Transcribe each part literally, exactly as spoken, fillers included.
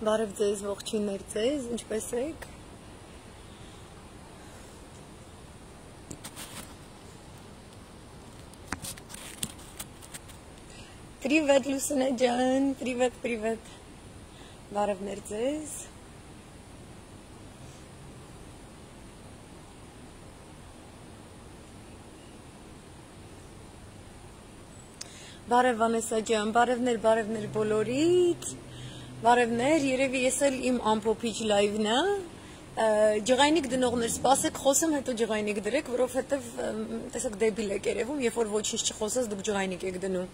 Բարև ձեզ, ողջույններ ձեզ, ինչպես եք։ Привет, Լուսինե ջան, привет, привет։ Բարևներ ձեզ։ Բարև Վանեսա ջան, բարևներ, բարևներ բոլորիդ։ Բարևներ, երևի ես էլ իմ ամփոփիչ լայվն է։ Ջղայնիկ դնողներ, սպասեք, խոսեմ, հետո ջղայնիկ դրեք, որովհետև տեսակ դեբիլ եք երևում, երբ որ ոչինչ չխոսես, դուք ջղայնիկ եք դնում։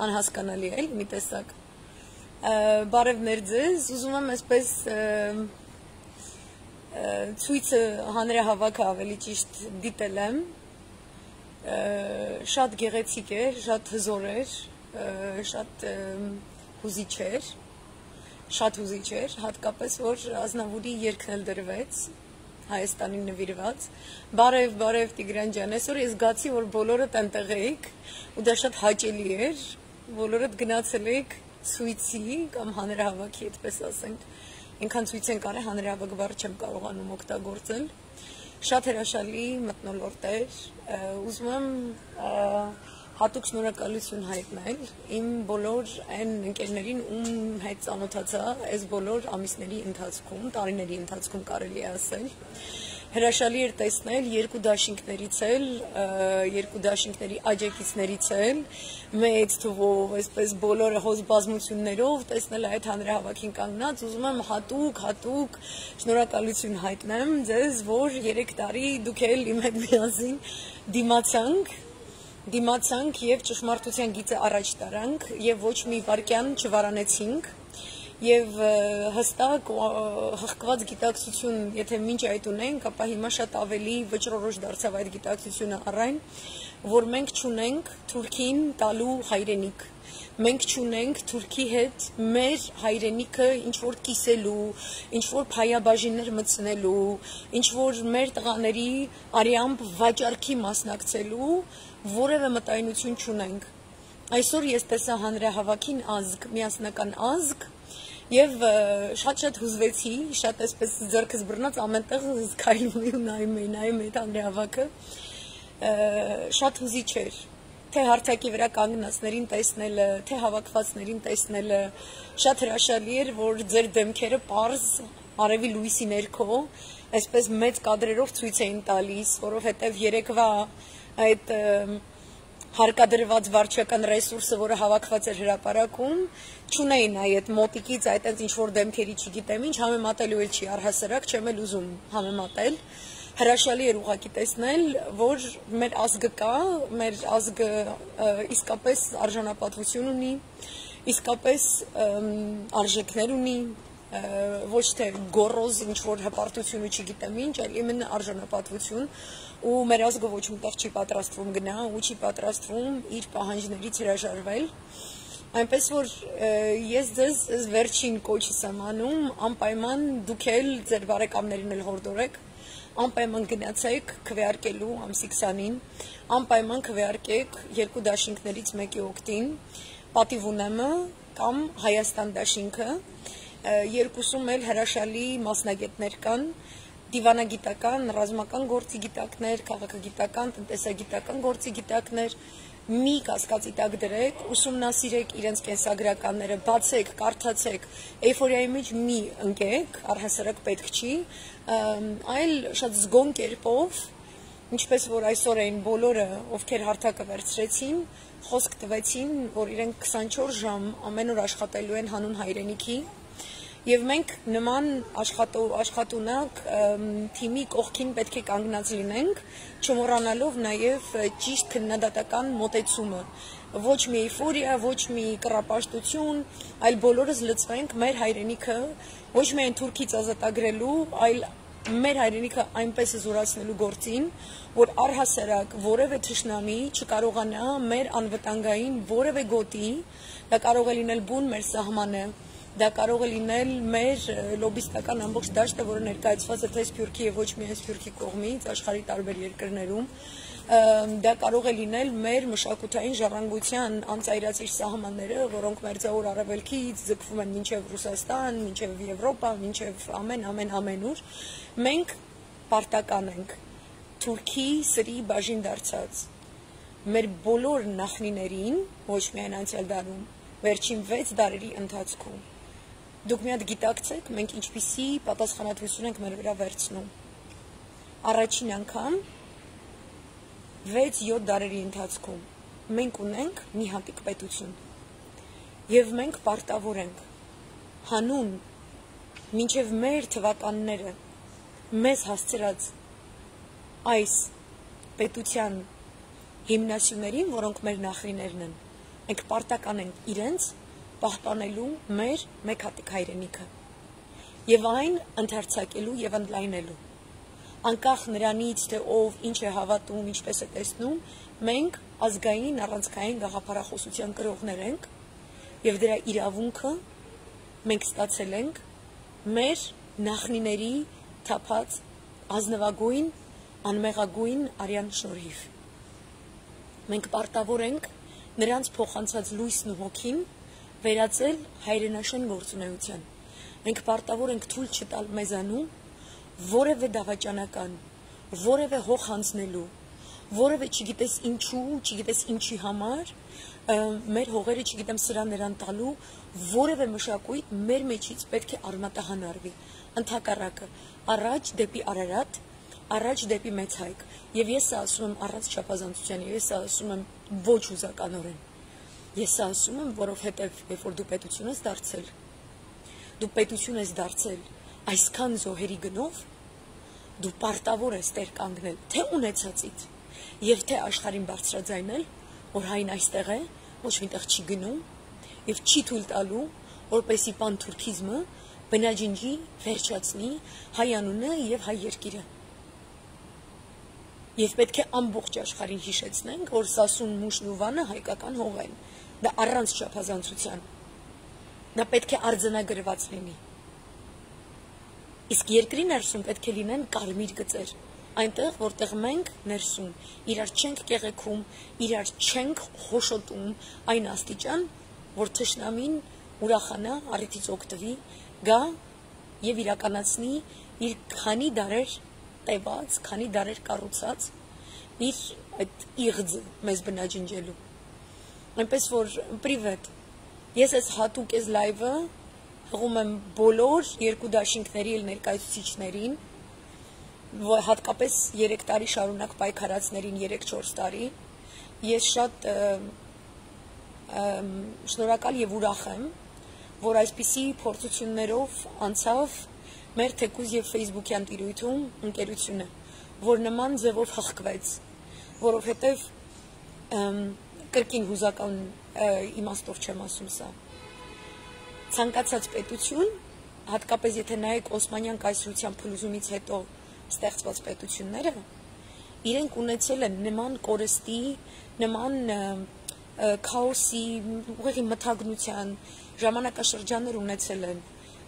Անհասկանալի է, մի տեսակ։ Բարևներ ձեզ, ուզում եմ այսպես ցույցը հանրահավաքը ավելի ճիշտ դիտել եմ։ Շատ գեղեցիկ էր, շատ հզոր էր, շատ հուզիչ էր, շատ հուզիչ էր, հատկապես որ Ազնավուրի երգն էլ դրվեց, Հայաստանին նվիրված։ Բարև, բարև Տիգրան ջան, այսօր ես զգացի, որ բոլորդ այնտեղ եք, ու դա շատ հաճելի էր, բոլորդ գնացել եք ցույցի կամ հանրահավաքի, այդպես ասենք, այնքան ցույց են կարել, հանրահավաք բառը չեմ կարողանում օգտագործել։ Շատ հրաշալի մթնոլորտ էր, ուզում եմ հատուկ շնորհակալություն հայտնել իմ բոլոր այն ընկերներին, ում հետ ծանոթացա այս բոլոր ամիսների ընթացքում, տարիների ընթացքում կարելի է ասել։ Հրաշալի էր տեսնել երկու դաշինքներից էլ, երկու դաշինքների աջակիցներից էլ, մեծ թվով, այսպես բոլորը հոզ բազմություններով տեսնել այդ հանրահավաքին կանգնած, ուզում եմ հատուկ, հատուկ շնորհակալություն հայտնեմ ձեզ, որ երեք տարի դուք էլ իմ հետ միասին դիմացանք, դիմացանք եւ ճշմարտության գիծը առաջ տարանք եւ ոչ մի վարքյան չվարանեցինք եւ հստակ հղկված գիտակցություն, եթե մինչ այդ ունենք, ապա հիմա շատ ավելի վճռորոշ դարձավ այդ գիտակցությունը առայն, որ մենք չունենք Թուրքին տալու հայրենիք։ Մենք չունենք Թուրքի հետ մեր հայրենիքը ինչ-որ կիսելու, ինչ-որ փայաբաժիններ մտցնելու, ինչ-որ մեր տղաների արյամբ վաճառքի մասնակցելու որևէ մտայնություն չունենք։ Այսօր ես տեսա հանրահավաքին ազգ, միասնական ազգ, եւ շատ-շատ հուզվեցի, շատ այսպես ձեռքս բռնած ամենտեղ զգայլում ու նայում էի, նայում էի հանրահավաքը, շատ հուզիչ էր, թե հարթակի վրա կանգնածներին տեսնելը, թե հավաքվածներին տեսնելը, շատ հրաշալի էր, որ ձեր դեմքերը պարզ արևի լույսի ներքո, այսպես մեծ կադրերով ցույց էին տալիս, որովհետև երեկվա այդ հարկադրված վարչական ռեսուրսը, որը հավաքված էր հրապարակում, չունեին այդ մոտիկից այդ ինչ-որ դեմքերի չգիտեմ ինչ, համեմատելու էլ չի առհասարակ, չեմ էլ ուզում համեմատել, հրաշալի էր ուղղակի տեսնել, որ մեր ազգը կա, մեր ազգը իսկապես արժանապատվություն ունի, իսկապես արժեքներ ունի, ոչ թե գոռոզ ինչ-որ հպարտություն ու չգիտեմ ինչ, այլ իմенно արժանապատվություն, ու մեր ազգը ոչ մտեղ չի պատրաստվում գնա, ու չի պատրաստվում իր պահանջներից հրաժարվել, այնպես որ ես ձեզ վերջին կոչս եմ անում, անպայման դուք էլ ձեր բարեկամներին էլ հորդորեք, անպայման գնացեք քվեարկելու ամսի քսանին, անպայման քվեարկեք երկու դաշինքներից մեկի օգտին, Պատիվ ունեմը կամ Հայաստան դաշինքը, երկուսում էլ հրաշալի մասնագետներ կան, դիվանագիտական, ռազմական գործի գիտակներ, քաղաքագիտական, տնտեսագիտական գործի գիտակներ, մի կասկածի տակ դրեք, ուսումնասիրեք իրենց կենսագրականները, բացեք, կարդացեք, էյֆորիայի մեջ մի ընկեք, առհասարակ պետք չի, այլ շատ զգոն կերպով, ինչպես որ այսօր էին բոլորը, ովքեր հարթակը վերցրեցին, խոսք տվեցին, որ իրենք քսանչորս ժամ ամեն օր աշխատելու են հանուն հայրենիքի, եւ մենք նման աշխատունակ թիմի կողքին պետք է կանգնած լինենք, չմոռանալով նաեւ ճիշտ քննադատական մոտեցումը, ոչ մի էյֆորիա, ոչ մի կռապաշտություն, այլ բոլորս լծվենք մեր հայրենիքը ոչ միայն Թուրքից ազատագրելու, այլ մեր հայրենիքը այնպես զորացնելու գործին, որ առհասարակ որևէ թշնամի չկարողանա մեր անվտանգային որևէ գոտի, դա կարող է լինել բուն մեր սահմանը, դա կարող է լինել մեր լոբիստական ամբողջ դաշտը, որը ներկայացված է թե Սփյուռքի եւ ոչ միայն Սփյուռքի կողմից աշխարհի տարբեր երկրներում, դա կարող է լինել մեր մշակութային ժառանգության անծայրածիր սահմանները, որոնք մերձավոր արևելքից ձգվում են մինչև Ռուսաստան, մինչև Եվրոպա, մինչև ամեն ամեն ամենուր, մենք պարտական ենք Թուրքի սրի բաժին դարձած մեր բոլոր նախնիներին, ոչ միայն անցյալ դարում, վերջին վեց դարերի ընթացքում։ Դուք մի հատ գիտակցեք, մենք ինչպիսի պատասխանատվություն ենք մեր վրա վերցնում։ Առաջին անգամ վեց-յոթ դարերի ընթացքում մենք ունենք մի հատիկ պետություն եւ մենք պարտավոր ենք հանուն մինչեւ մեր թվականները մեզ հասցրած այս պետության հիմնասյուներին, որոնք մեր նախնիներն են, մենք պարտական ենք իրենց պահպանելու մեր մեկ հատիկ հայրենիքը եւ այն ընդարձակելու եւ ընդլայնելու անկախ նրանից թե ով ինչ է հավատում, ինչպես է տեսնում, մենք ազգային առանցքային գաղափարախոսության կրողներ ենք եւ դրա իրավունքը մենք ստացել ենք մեր նախնիների թափած ազնվագույն, անմեղագույն արյան շնորհիվ։ Մենք պարտավոր ենք նրանց փոխանցած լույսն ու հոգին վերածել հայրենաշեն գործունեության։ Մենք պարտավոր ենք թույլ չտալ մեզանում որևէ դավաճանական, որևէ հող հանձնելու, որևէ չգիտես ինչու, չգիտես ինչի համար, մեր հողերը չգիտեմ սրան նրան տալու, որևէ մշակույթ մեր մեջից պետք է արմատահան արվի, ընդհակառակը, առաջ դեպի Արարատ, առաջ դեպի Մեծ Հայք, եւ ես սա ասում եմ առանց չափազանցության, եւ ես սա ասում եմ ոչ ուզականորեն, ես սա ասում եմ, որովհետեւ երբ որ դու պետություն ես դարձել, դու պետություն ես դարձել այսքան զոհերի գնով, դու պարտավոր ես տեր կանգնել, թե ունեցածից, եւ թե աշխարհին բարձրաձայնել, որ հայն այստեղ է, ոչ միտեղ չի գնում, եւ չի թույլ տալու, որպեսի պանթուրքիզմը բնաջինջի վերջացնի հայ անունը եւ հայ երկիրը։ Եվ պետք է ամբողջ աշխարհին հիշեցնենք, որ Սասուն, Մուշն ու Վանը հայկական հող են, դա առանց չափազանցության, դա պետք է արձանագրված լինի։ Իսկ երկրի ներսում պետք է լինեն կարմիր գծեր, այնտեղ, որտեղ մենք ներսում իրար չենք կեղեքում, իրար չենք խոշոտում այն աստիճան, որ թշնամին ուրախանա, առիթից օգտվի, գա եւ իրականացնի իր քանի դարեր տևած, քանի դարեր կառուցած իր այդ իղձը մեզ բնաջնջելու։ Այնպես որ պրիվետ, ես այս հատուկ այս լայվը հղում եմ բոլոր երկու դաշինքների էլ ներկայացուցիչներին, հատկապես երեք տարի շարունակ պայքարածներին երեք-չորս տարի, ես շատ շնորհակալ եւ ուրախ եմ, որ այսպիսի փորձություններով անցավ մեր թեկուզ եւ Facebook-յան տիրույթում ընկերությունը, որ նման ձևով հղկվեց, որովհետեւ կրկին հուզական իմաստով չեմ ասում սա։ Ցանկացած պետություն, հատկապես եթե նայեք Օսմանյան կայսրության փլուզումից հետո ստեղծված պետությունները, իրենք ունեցել են նման կորստի, նման քաոսի, ուղղակի մթագնության ժամանակաշրջաններ ունեցել են,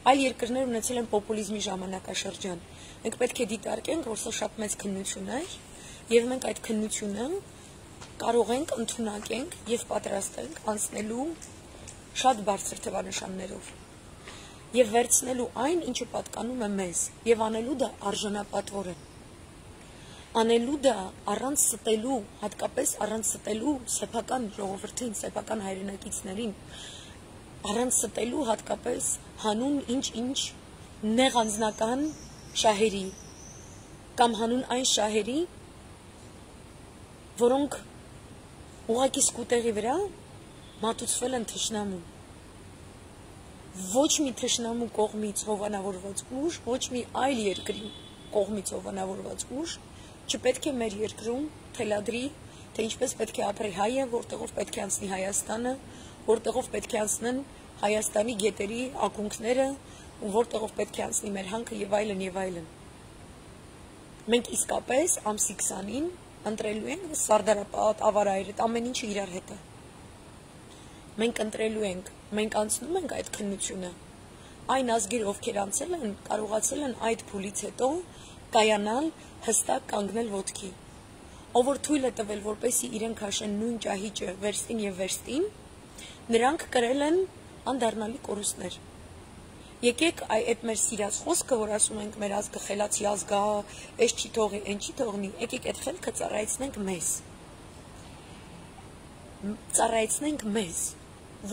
այլ երկրներ ունեցել են պոպուլիզմի ժամանակաշրջան։ Մենք պետք է դիտարկենք, որ սա շատ մեծ քննություն է, եւ մենք այդ քննությունը կարող ենք ընդունակենք եւ պատրաստենք անցնելու շատ բարձր թվանշաններով եւ վերցնելու այն, ինչը պատկանում է մեզ, եւ անելու դա արժանապատվորեն։ Անելու դա առանց ստելու, հատկապես առանց ստելու սեփական ժողովրդին, սեփական հայրենակիցներին, առանց ստելու հատկապես հանուն ինչ-ինչ նեղ անձնական շահերի կամ հանուն այն շահերի, որոնք ուղղակի սկուտեղի վրա մատուցվել են թշնամուն։ Ոչ մի թշնամու կողմից հովանավորված ուժ, ոչ մի այլ երկրի կողմից հովանավորված ուժ չպետք է մեր երկրում թելադրի, թե ինչպես պետք է ապրի հայը, որտեղով պետք է անցնի Հայաստանը, որտեղով պետք է անցնեն Հայաստանի գետերի ակունքները, ու որտեղով պետք է անցնի մեր հանքը եւ այլն եւ այլն։ Մենք իսկապես ամսի քսանին ընտրելու ենք Սարդարապատ, Ավարայրդ, ամեն ինչը իրար հետ է։ Մենք ընտրելու ենք, մենք անցնում ենք այդ քննությունը այն ազգերը, ովքեր անցել են, կարողացել են այդ փուլից հետո կայանալ, հստակ կանգնել ոտքի։ Ով որ թույլ է տվել, որպեսզի իրենք հաշեն նույն ճահիճը վերստին եւ վերստին, նրանք կրել են անդառնալի կորուստներ։ Եկեք այդ մեր սիրած խոսքը, որ ասում ենք մեր ազգը խելացի ազգ է, այս չի թողի, այն չի թողնի, եկեք այդ խելքը ծառայեցնենք մեզ։ Ծառայեցնենք մեզ,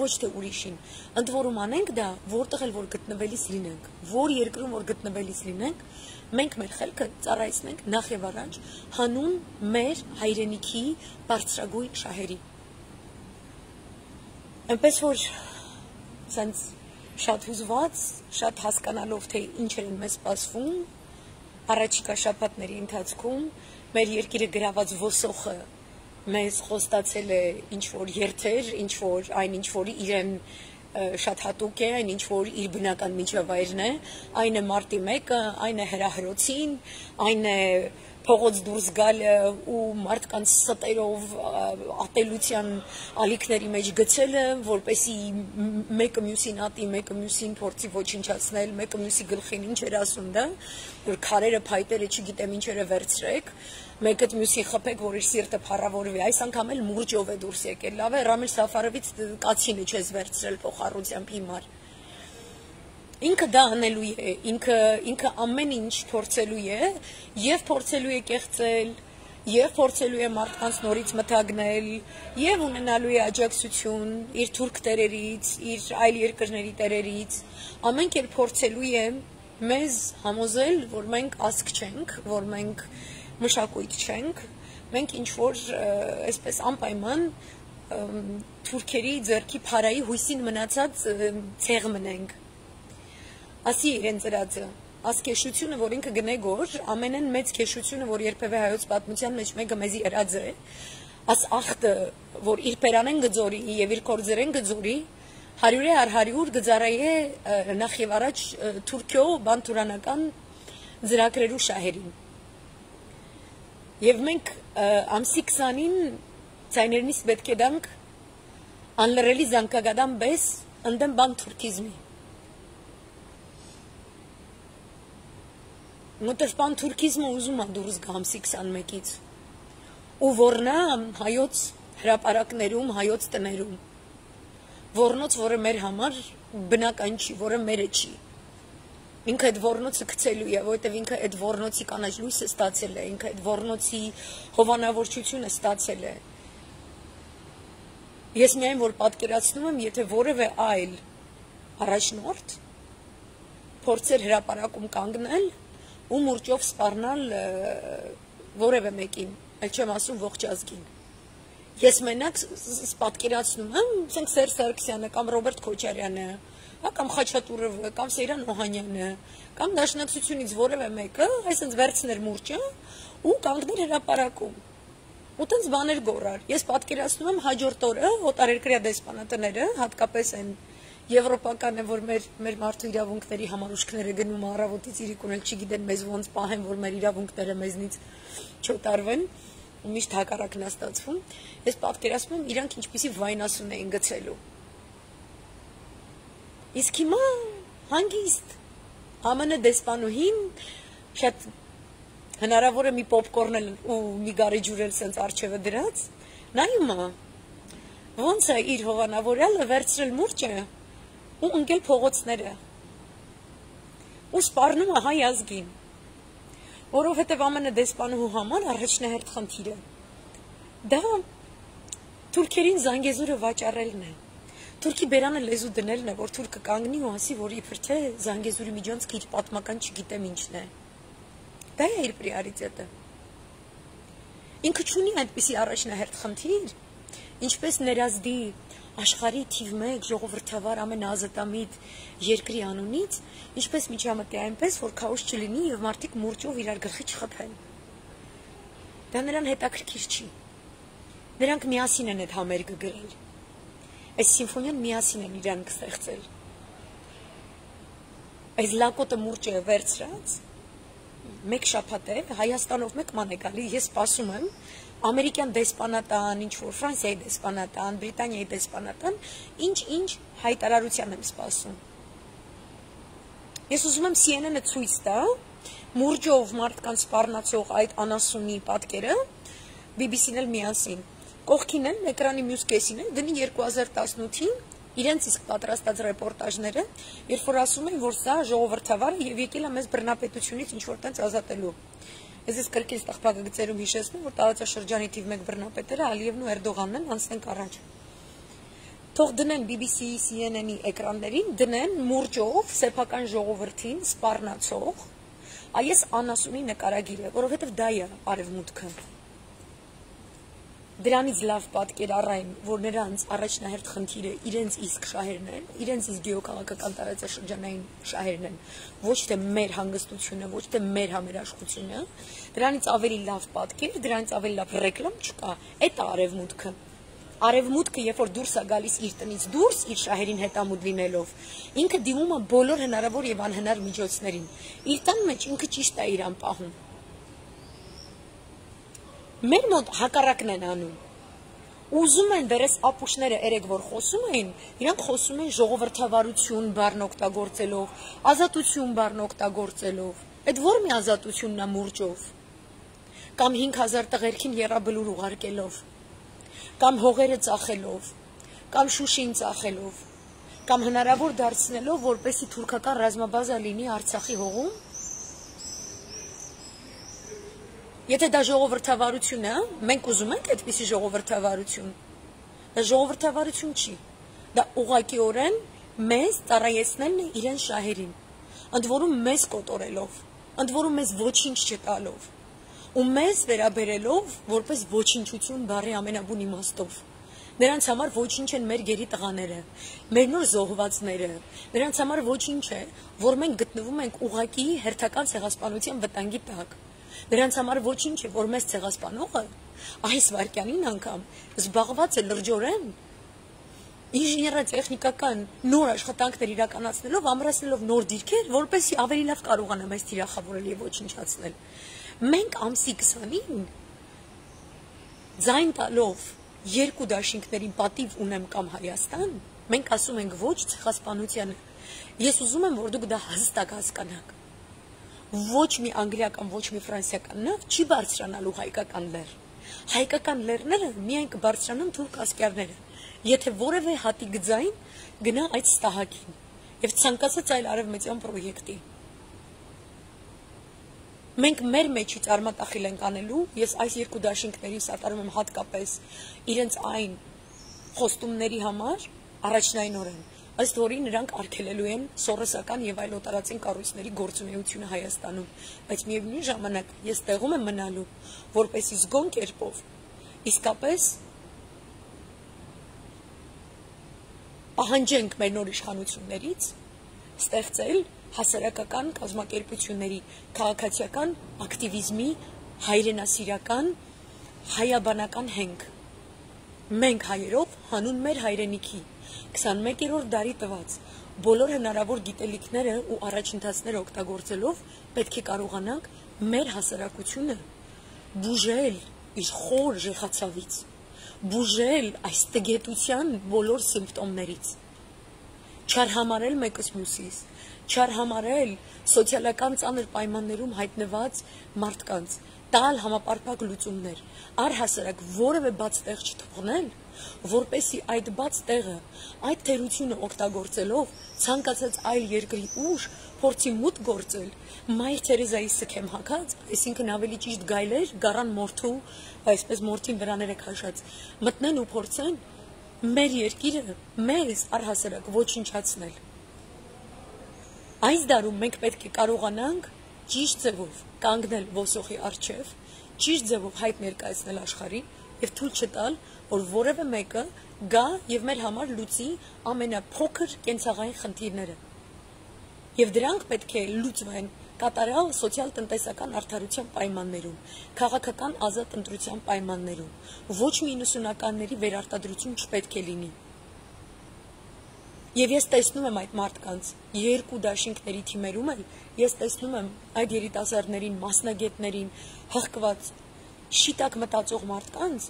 ոչ թե ուրիշին։ Ընդ որում անենք դա, որտեղ էլ որ գտնվելիս լինենք, որ երկրում որ գտնվելիս լինենք, մենք մեր խելքը ծառայեցնենք նախ եւ առաջ հանուն մեր հայրենիքի բարձրագույն շահերի։ Այնպես որ սենց շատ հուզված, շատ հասկանալով, թե ինչեր են մեզ սպասվում, առաջիկա շաբաթների ընթացքում մեր երկիրը գրաված ոսոխը մեզ խոստացել է ինչ-որ երթեր, ինչ-որ այն ինչ-որ իրեն շատ հատուկ է, այն ինչ-որ իր բնական միջավայրն է, այն է մարտի մեկը, այն է հրահրոցին, այն է փողոց դուրս գալը ու մարդկանց ստերով ատելության ալիքների մեջ գցելը, որպեսի մեկը մյուսին ատի, մեկը մյուսին փորձի ոչնչացնել, մեկը մյուսի գլխին ինչ էր ասում դա, որ քարերը, փայտերը, չգիտեմ ինչեր է վերցրեք, մեկը մյուսին խփեք, որ իր սիրտը փառավորվի, այս անգամ էլ մուրճով է դուրս եկել, լավ է, Ռամիլ Սաֆարովից կացինը չես վերցրել փոխառությամբ հիմար։ Ինքը դա անելու է, ինքը, ինքը ամեն ինչ փորձելու է, եւ փորձելու է կեղծել, եւ փորձելու է մարդկանց նորից մթագնել, եւ ունենալու է աջակցություն իր թուրք տերերից, իր այլ երկրների տերերից, ամեն կերպ փորձելու է մեզ համոզել, որ մենք ազգ չենք, որ մենք մշակույթ չենք, մենք ինչ-որ այսպես անպայման թուրքերի ձեռքի փարայի հույսին մնացած ցեղ մնենք։ Ասի իրեն ծրածը, աս քեշությունը, որ ինքը գնե գոր, ամենեն մեծ քեշությունը, որ երբևէ հայոց պատմության մեջ մեկը մեզի ըրած է, աս ախտը, որ իր պերանեն գծորի եւ իր կորձերեն գծորի, հարյուրե առ հարյուր գծարայե նախ եւ առաջ թուրքյո բանտուրանական ծրագրերու շահերին։ Եվ մենք ամսի քսանին ցայներնից պետք է դանք անլրելի զանկագադան բես ընդեմ բան թուրքիզմի։ Մոտև բան թուրքիզմը ուզում է դուրս գա ամսի քսանմեկից ու որնա հայոց հրապարակներում, հայոց տներում, որնոց, որը մեր համար բնական չի, որը մերը չի։ Ինքը այդ որնոցը գցելու է, որովհետև ինքը այդ որնոցի կանաչ լույսը ստացել է, ինքը այդ որնոցի հովանավորչությունը ստացել է։ Ես միայն որ պատկերացնում եմ, եթե որևէ այլ առաջնորդ փորձեր հրապարակում կանգնել ու մուրճով սպառնալ որևէ մեկին, այլ չեմ ասում ողջ ազգին։ Ես մենակ պատկերացնում եմ, ասենք Սերժ Սարգսյանը կամ Ռոբերտ Քոչարյանը, կամ Խաչատուրովը, կամ Սեյրան Օհանյանը, կամ Դաշնակցությունից որևէ մեկը, այսինքն վերցներ մուրճը ու կանգներ հրապարակում։ Ու տենց բաներ գորար։ Ես պատկերացնում եմ հաջորդ օրը օտարերկրյա դեսպանատները, հատկապես այն եվրոպական է, որ մեր մեր մարդու իրավունքների համարուշքները գնում առավոտից իրիկուն էլ չգիտեն մեզ ոնց պահեն, որ մեր իրավունքները մեզնից չօտարվեն, ու միշտ հակառակն է ստացվում։ Ես պատկերացնում եմ իրանք ինչպիսի վայնասուն էին գցելու։ Իսկ հիմա հանգիստ ԱՄՆ դեսպանուհին շատ հնարավոր է մի պոպկորն ու մի գարի ջուր էլ սենց արջևը դրած, նայում է, ոնց է իր հովանավորյալը վերցրել մուրճը ու ընկել փողոցները ու սպառնում է հայ ազգին, որովհետև ԱՄՆ դեսպանուհու համար առաջնահերթ խնդիրը դա թուրքերին Զանգեզուրը վաճառելն է, թուրքի բերանը լեզու դնելն է, որ թուրքը կանգնի ու ասի, որ իբր թե Զանգեզուրի միջանցքը իր պատմական չգիտեմ ինչն է, դա է իր պրիորիտետը։ Ինքը չունի այդպիսի առաջնահերթ խնդիր, ինչպես ներազդի աշխարհի թիվ մեկ ժողովրդավար ամենաազատամիտ երկրի անունից, ինչպես միջամտի այնպես, որ քաոս չլինի եւ մարդիկ մուրճով իրար գլխի չխփեն։ Դա նրան հետաքրքիր չի։ Նրանք միասին են այդ համերգը գրել։ Այս սիմֆոնիան միասին են իրան կստեղծել։ Այս լակոտը մուրճը վերցրած մեկ շաբաթ է Հայաստանով մեկ ման է գալի, ես սպասում եմ ամերիկյան դեսպանատան, ինչ որ Ֆրանսիայի դեսպանատան, Բրիտանիայի դեսպանատան, ինչ-ինչ հայտարարության եմ սպասում։ Ես ուզում եմ C N N-ը ցույց տա մուրճով մարդկանց սպառնացող այդ անասունի պատկերը, B B C-ն էլ միասին։ Կողքին են էկրանի մյուս կեսին են դնի երկու հազար տասնութին իրենց իսկ պատրաստած ռեպորտաժները, երբ որ ասում են, որ սա ժողովրդավար է եւ եկել է մեզ բռնապետությունից ինչ որ տենց ազատելու։ Ես ես կրկին տաղպակագծերում հիշեցնում, որ տարածաշրջանի թիվ մեկ բռնապետերը Ալիևն ու Էրդողանն են, անցնենք առաջ։ Թող դնեն B B C-ի C N N-ի էկրաններին, դնեն մուրճով սեփական ժողովրդին սպառնացող այս անասունի նկարագիրը, որովհետև դա է արևմուտքը։ Դրանից լավ պատկեր առայն, որ նրանց առաջնահերթ խնդիրը իրենց իսկ շահերն են, իրենց իսկ գյուղաքաղաքական տարածաշրջանային շահերն են, ոչ թե մեր հանգստությունը, ոչ թե մեր համերաշխությունը, դրանից ավելի լավ պատկեր, դրանից ավելի լավ ռեկլամ չկա, այդ է արևմուտքը։ Արևմուտքը, երբ որ դուրս է գալիս իր տնից դուրս, իր շահերին հետամուտ լինելով, ինքը դիմում է բոլոր հնարավոր եւ անհնար միջոցներին։ Իր տան մեջ ինքը ճիշտ է իրան պահում։ Մեր մոտ հակառակն են անում։ Ուզում են դերես ապուշները երեք որ խոսում էին, իրանք խոսում են ժողովրդավարություն բառն օգտագործելով, ազատություն բառն օգտագործելով։ Այդ ո՞ր մի ազատությունն է մուրճով։ Կամ հինգ հազար տղերքին եռաբլուր ուղարկելով, կամ հողերը ծախելով, կամ Շուշին ծախելով, կամ հնարավոր դարձնելով, որպեսզի թուրքական ռազմաբազա լինի Արցախի հողում։ Եթե դա ժողովրդավարություն է, մենք ուզում ենք այդպիսի ժողովրդավարություն։ Դա ժողովրդավարություն չի։ Դա ուղղակիորեն մեզ ծառայեցնելն է իրեն շահերին, ընդ որում մեզ կոտորելով, ընդ որում մեզ ոչինչ չտալով, ու մեզ վերաբերելով որպես ոչնչություն բառի ամենաբուն իմաստով։ Նրանց համար ոչինչ են մեր գերի տղաները, մեր նոր զոհվածները, նրանց համար ոչինչ է, որ մենք գտնվում ենք ուղղակի հերթական ցեղասպանության վտանգի տակ։ Նրանց համար ոչինչ է, որ մեզ ցեղասպանողը այս վարքյանին անգամ զբաղված է լրջորեն ինժեներատեխնիկական նոր աշխատանքներ իրականացնելով, ամրացնելով նոր դիրքեր, որպեսզի ավելի լավ կարողանա մեզ թիրախավորել եւ ոչնչացնել։ Մենք ամսի քսանին ձայն տալով երկու դաշինքներին պատիվ ունեմ կամ Հայաստան, մենք ասում ենք ոչ ցեղասպանությանը։ Ես ուզում եմ, որ դուք դա հստակ հասկանաք։ Ոչ մի անգլիական, ոչ մի ֆրանսիական նավ չի բարձրանալու հայկական լեռ։ Հայկական լեռները միայն կբարձրանան թուրք ասկերները, եթե որևէ հատիկ ձայն գնա այդ ստահակին եւ ցանկացած այլ արևմտյան պրոյեկտի։ Մենք մեր մեջից արմատախիլ ենք անելու, ես այս երկու դաշինքների սատարում եմ հատկապես իրենց այն խոստումների համար, առաջնայինորեն, ըստ որի նրանք արգելելու են սորոսական եւ այլ օտարածին կառույցների գործունեությունը Հայաստանում, բայց միևնույն ժամանակ ես տեղում եմ մնալու, որպեսզի զգոն կերպով իսկապես պահանջենք մեր նոր իշխանություններից ստեղծել հասարակական կազմակերպությունների քաղաքացիական ակտիվիզմի հայրենասիրական հայաբանական հենք։ Մենք հայերով հանուն մեր հայրենիքի քսանմեկերորդ դարի տված բոլոր հնարավոր գիտելիքները ու առաջընթացները օգտագործելով պետք է կարողանանք մեր հասարակությունը բուժել իր խոր ժեխացավից, բուժել այս տգետության բոլոր սիմպտոմներից, չարհամարել մեկս մյուսից, չարհամարել սոցիալական ծանր պայմաններում հայտնված մարդկանց, տալ համապարփակ լուծումներ, առհասարակ որևէ բաց տեղ չթողնել, որպեսզի այդ բաց տեղը, այդ թերությունը օգտագործելով ցանկացած այլ երկրի ուժ փորձի մուտք գործել, Մայր Թերեզայի սքեմ հագած, այսինքն ավելի ճիշտ գայլեր, գառան մորթու, այսպես մորթին վրաներ է քաշած, մտնեն ու փորձեն մեր երկիրը մեզ առհասարակ ոչնչացնել։ Այս դարում մենք պետք է կարողանանք ճիշտ ձևով կանգնել ոսոխի առջև, ճիշտ ձևով հայտ ներկայացնել աշխարհին եւ թույլ չտալ, որ որևէ մեկը գա եւ մեր համար լուծի ամենափոքր կենցաղային խնդիրները։ Եվ դրանք պետք է լուծվեն կատարյալ սոցիալ-տնտեսական արդարության պայմաններում, քաղաքական ազատ ընտրության պայմաններում, ոչ մի իննսունականների վերարտադրություն չպետք է լինի։ Եվ ես տեսնում եմ այդ մարդկանց երկու դաշինքների թիմերում էլ, ես տեսնում եմ այդ երիտասարդներին, մասնագետներին, հղկված, շիտակ մտածող մարդկանց,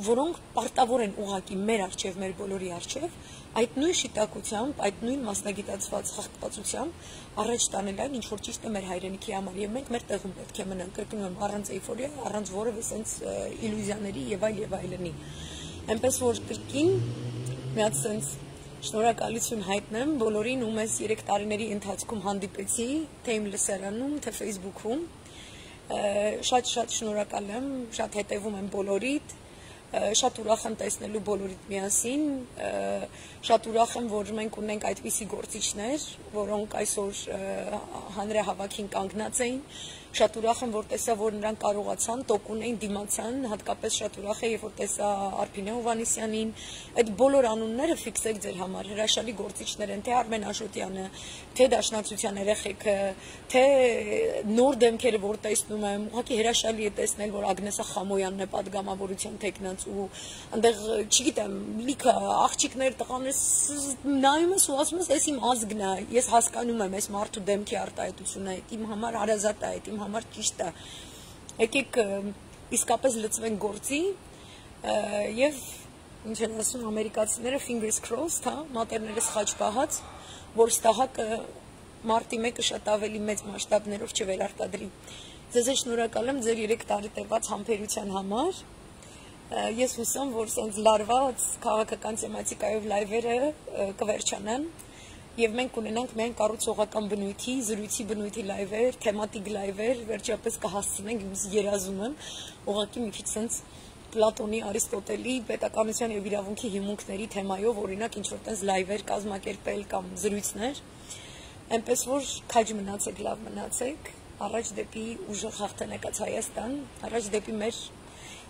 որոնք պարտավոր են ուղղակի մեր արչև, մեր բոլորի արչև, այդ նույն շիտակությամբ, այդ նույն մասնագիտացված հաղթվածությամբ առաջ տանել այն, ինչ որ ճիշտ է մեր հայրենիքի համար, եւ մենք մեր տեղում պետք է մնանք, կրկնում եմ, առանց էյֆորիա, առանց որևէ sense իլյուզիաների եւ այլ եւ այլնի։ Այնպես որ կրկին մի հատ sense շնորհակալություն հայտնեմ բոլորին, ում ես երեք տարիների ընթացքում հանդիպեցի, թե իմ լսարանում, թե Facebook-ում։ Շատ-շատ շնորհակալ եմ, շատ հետևում եմ բոլորիդ, շատ ուրախ եմ տեսնելու բոլորիդ միասին, շատ ուրախ եմ, որ մենք ունենք այդպիսի գործիչներ, որոնք այսօր հանրահավաքին կանգնած էին, շատ ուրախ եմ, որ տեսա, որ նրանք կարողացան, տոկուն էին, դիմացան, հատկապես շատ ուրախ եմ, որ տեսա Արփինե Հովհաննիսյանին, այդ բոլոր անունները ֆիքսեք ձեր համար, հրաշալի գործիչներ են, թե Արմեն Աշոտյանը, թե Դաշնակցության երեխեքը, թե նոր դեմքերը, որ տեսնում եմ, ուղղակի հրաշալի է տեսնել, որ Ագնեսա Խամոյանն է պատգամավորության տեխնած ու այնտեղ, չգիտեմ, լիքը աղջիկներ, տղաներ նայում ես ու ասում ես, այս իմ ազգն է, ես հասկանում եմ այս մարդու դեմքի արտահայտությունը, այդ իմ համար հարազատ է, այդ իմ համար ճիշտ է։ Եկեք իսկապես լծվենք գործի եւ ինչ են ասում ամերիկացիները fingers crossed, հա, մատերներս խաչ պահած, որ ստահակը մարտի մեկը շատ ավելի մեծ մասշտաբներով չվերարտադրի։ Ձեզ շնորհակալ եմ ձեր երեք տարի տևած համբերության համար։ Ես հուսամ, որ սենց լարված քաղաքական թեմատիկայով լայվերը կվերջանան եւ մենք ունենանք միայն կառուցողական բնույթի, զրույցի բնույթի լայվեր, թեմատիկ լայվեր, վերջապես կհասցնենք, ես երազում եմ, ուղղակի մի քիչ սենց Պլատոնի, Արիստոտելի, պետականության եւ իրավունքի հիմունքների թեմայով, օրինակ, ինչ որ տես լայվեր կազմակերպել կամ զրույցներ, այնպես որ քաջ մնացեք, լավ մնացեք, առաջ դեպի ուժեղ հաղթանակած Հայաստան, առաջ դեպի մեր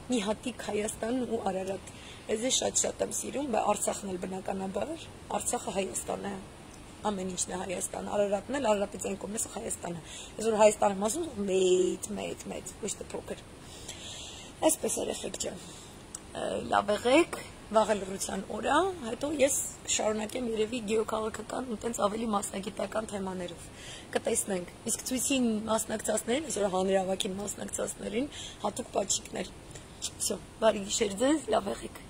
մի հատիկ Հայաստան ու Արարատ։ Ես շատ-շատ եմ սիրում, բայց Արցախն էլ բնականաբար, Արցախը Հայաստան է։ Ամեն ինչն է Հայաստան, Արարատն էլ, Արարատից այն կողմից Հայաստանը։ Ես որ Հայաստանը եմ ասում, մեծ, մեծ, մեծ, ոչ թե փոքր։ Այսպես երեխեք ջան, լավ եղեք, վաղը լռության օր է, հետո ես կշարունակեմ երևի գեոքաղաքական ու տենց ավելի մասնագիտական թեմաներով։ Կտեսնենք։ Իսկ ցույցին մասնակցածներին, այսօր հանրահավաքին մասնակցածներին հատուկ պատժիքներ։ Всё, բարի գիշեր ձեզ, լավ եղեք։